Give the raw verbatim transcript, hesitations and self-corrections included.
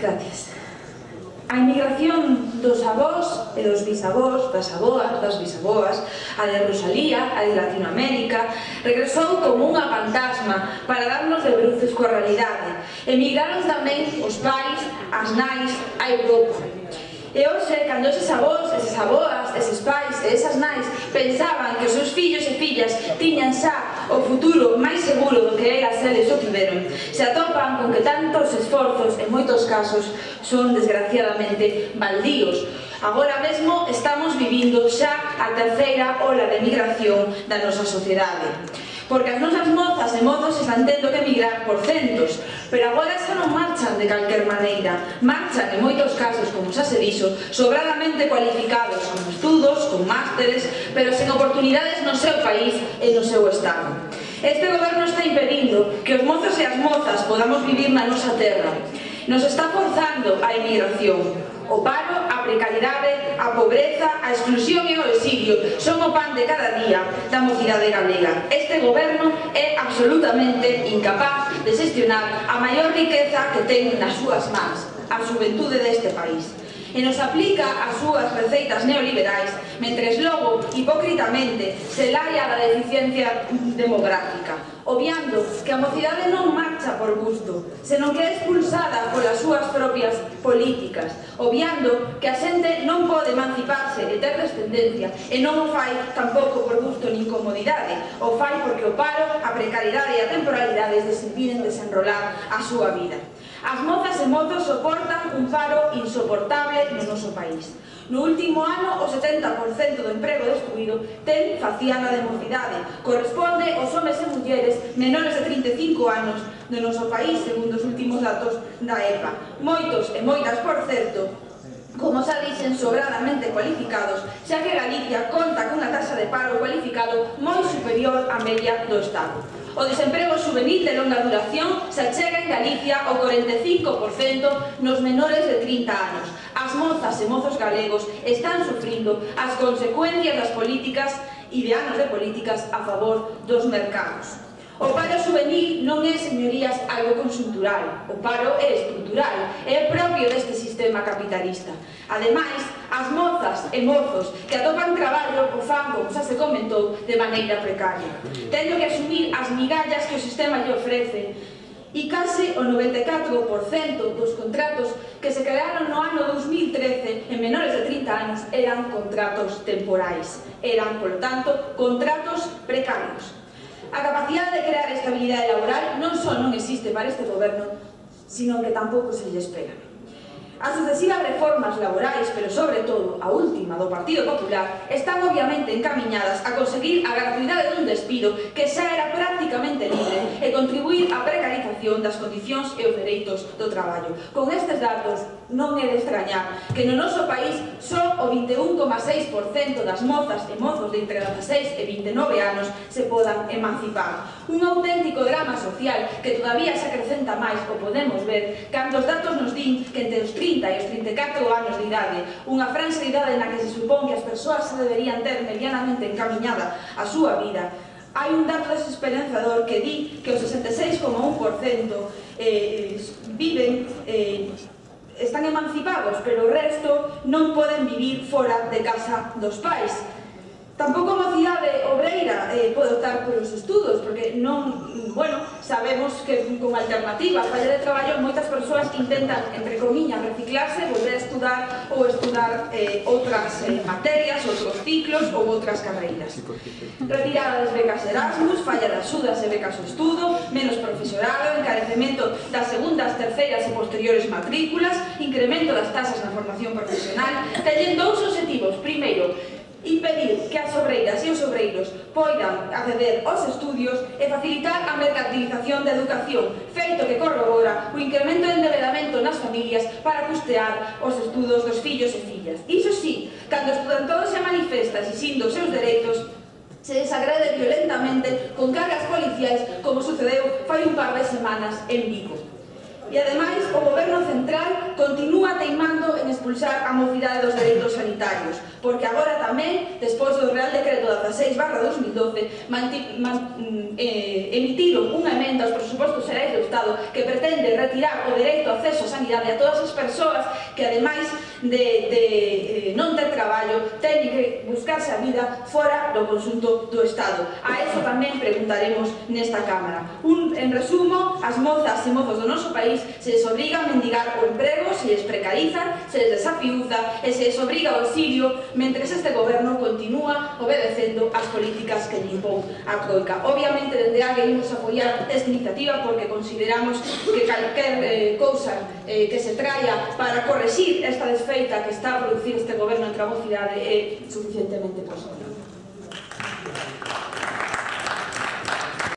Gracias. A inmigración dos avós e dos bisavós, das aboas, das bisaboas, a de Rosalía, a de Latinoamérica, regresou como unha fantasma para darnos de bruces coa realidade. Emigraron tamén os pais, as nais, a Europa. E hoxe, cando eses avós, esas aboas, eses pais e esas nais pensaban que os seus fillos e fillas tiñan xa o futuro máis seguro do que elas eles o tiveron, se atopan con que tantos esforzos, en moitos casos, son desgraciadamente baldíos. Agora mesmo estamos vivindo xa a terceira ola de migración da nosa sociedade. Porque as nosas mozas e mozos están tendo que emigrar por centos, pero agora xa non marchan de calquer maneira, marchan en moitos casos, como xa se dixo, sobradamente cualificados, con estudos, con másteres, pero sen oportunidades no seu país e no seu estado. Este goberno está impedindo que os mozos e as mozas podamos vivir na nosa terra. Nos está forzando a emigración. O paro, a precariedade, a pobreza, a exclusión e o exilio son o pan de cada día da mocidade galega. Este goberno é absolutamente incapaz de xestionar a maior riqueza que ten nas súas mans, a xuventude deste país. E nos aplica as súas receitas neoliberais, mentres logo, hipócritamente, se laia da deficiencia demográfica, obviando que a mocidade non marcha por gusto, senón que é expulsada polas súas propias políticas, obviando que a xente non pode emanciparse e ter descendencia, e non o fai tampouco por gusto nin comodidade, o fai porque o paro, a precariedade e a temporalidade les impiden desenrolar a súa vida. As mozas e mozos soportan un paro insoportable no noso país. No último ano, o setenta por cento do emprego destruído ten faciana de mocidade. Corresponde aos homes e mulleres menores de trinta e cinco anos do noso país, segundo os últimos datos da E P A. Moitos e moitas, por certo, como xa dixen, sobradamente cualificados, xa que Galicia conta cunha taxa de paro cualificado moi superior á media do Estado. O desemprego juvenil de longa duración se chega en Galicia ao corenta e cinco por cento nos menores de trinta anos. As mozas e mozos galegos están sufrindo as consecuencias das políticas e de anos de políticas a favor dos mercados. O paro juvenil non é, señorías, algo conxuntural. O paro é estrutural, é propio deste sistema capitalista. Ademais, as mozas e mozos que atopan traballo o fan, como xa se comentou, de maneira precaria, tendo que asumir as migallas que o sistema lle ofrece. E case o noventa e catro por cento dos contratos que se crearon no ano dos mil trece en menores de trinta anos eran contratos temporais. Eran, polo tanto, contratos precarios. A capacidade de crear estabilidade laboral non só non existe para este goberno, sino que tampouco se lle espera. As sucesivas reformas laborais, pero sobre todo a última do Partido Popular, están obviamente encaminhadas a conseguir a gratuidade dun despido que xa era prácticamente libre e contribuir á precarización das condicións e os dereitos do traballo. Con estes datos non é de extrañar que no noso país só o vinte e un coma seis por cento das mozas e mozos de entre dezaseis e vinte e nove anos se podan emancipar. Un auténtico drama social que todavía se acrecenta máis, o podemos ver, cando os datos nos din que entre os trinta e os trinta e catro anos de idade, unha franxa de idade na que se supón que as persoas se deberían ter medianamente encaminhada a súa vida, hai un dato desesperanzador que di que o sesenta e seis coma un por cento eh, viven, eh, están emancipados, pero o resto non poden vivir fora de casa dos pais. Tampouco a mocidade obreira eh, pode optar por os estudos, porque non, bueno, sabemos que con alternativa a falla de traballo moitas persoas intentan, entre comillas, reciclarse, volver a estudar ou estudar eh, outras eh, materias, outros ciclos ou outras carreiras. Retirada das becas Erasmus, falla de axudas e becas ao estudo, menos profesorado, encarecemento das segundas, terceiras e posteriores matrículas, incremento das tasas na formación profesional, teñen dous obxectivos. Primeiro, impedir que as obreiras e os obreiros poidan acceder aos estudios e facilitar a mercantilización da educación, feito que corrobora o incremento de endeudamento nas familias para custear os estudos dos fillos e fillas. Iso sí, cando estudantodos se manifesta exixindo os seus dereitos, se desagrede violentamente con cargas policiais, como sucedeu fai un par de semanas en Vigo. E, ademais, o goberno central continúa teimando en expulsar a mocidade dos dereitos sanitarios. porque agora tamén, despois do Real Decreto dezaseis barra dos mil doce, emitiron unha emenda aos presupostos xerais do Estado que pretende retirar o dereito ao acceso á sanidade a todas as persoas que, ademais de, de eh, non ter traballo, teñen que buscarse a vida fora do conxunto do Estado. A eso tamén preguntaremos nesta Cámara. Un, en resumo, as mozas e mozos do noso país se les obriga a mendigar o emprego, se les precariza, se les desafiuza e se les obriga ao exilio mentres este goberno continúa obedecendo as políticas que lle impón a Troika. Obviamente, dende A que imos apoiar esta iniciativa porque consideramos que calquer eh, cousa eh, que se traia para correxir esta desfeita que está a producir este goberno entre a mocidade é suficientemente positiva.